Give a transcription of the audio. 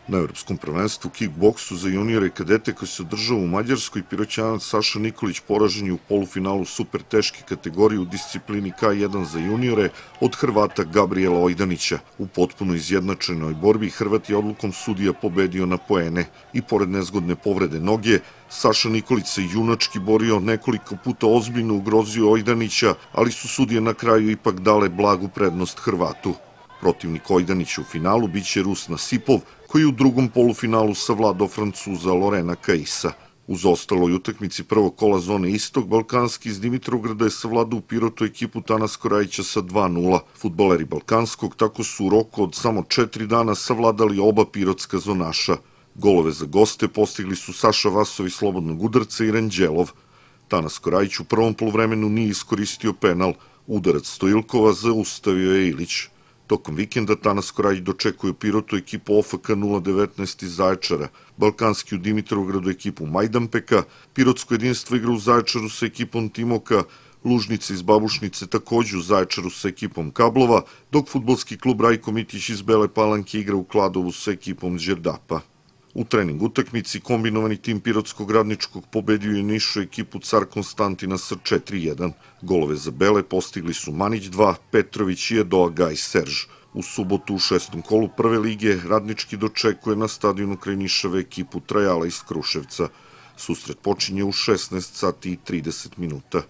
Na evropskom prvenstvu kickboksu za juniore i kadete koji se održava u Mađarskoj, Piroćanac Saša Nikolić poražen je u polufinalu super teške kategorije u disciplini K1 za juniore od Hrvata Gabriela Ojdanića. U potpuno izjednačenoj borbi Hrvat je odlukom sudija pobedio na poene i pored nezgodne povrede noge, Saša Nikolić se junački borio, nekoliko puta ozbiljno ugrozio Ojdanića, ali su sudije na kraju ipak dale blagu prednost Hrvatu. Protivnik Ojdanića u finalu biće Rus Nasipov, koji u drugom polufinalu savladao Francuza Lorena Caissa. U zaostaloj utakmici prvog kola zone Istok, Balkanski iz Dimitrovgrada je savladao u Pirotu ekipu Tanas Korajića sa 2:0. Fudbaleri Balkanskog tako su u roku od samo 4 dana savladali oba pirotska zonaša. Golove za goste postigli su Saša Vasovi slobodnog udarca i Ranđelov. Tanas Korajić u prvom poluvremenu nije iskoristio penal. Udarac Stojilkova zaustavio je Ilić. Tokom vikenda Tanas Korajić dočekuje u Pirotu ekipu OFK 019 iz Zaječara, Balkanski u Dimitrovgradu ekipu Majdanpeka, Pirotsko jedinstvo igra u Zaječaru sa ekipom Timoka, Lužnice iz Babušnice takođe u Zaječaru sa ekipom Kablova, dok fudbalski klub Rajko Mitić iz Bele Palanke igra u Kladovu sa ekipom Đerdapa. U trening utakmici kombinovani tim Pirotskog radničkog pobedio je Nišu ekipu Car Konstantina sa 4:1. Golove za Bele postigli su Manić 2, Petrović i Edoa Gaj Serž. U subotu u 6. kolu prve lige radnički dočekuje na stadionu kraj Nišave ekipu Trajala iz Kruševca. Susret počinje u 16 sati i 30 minuta.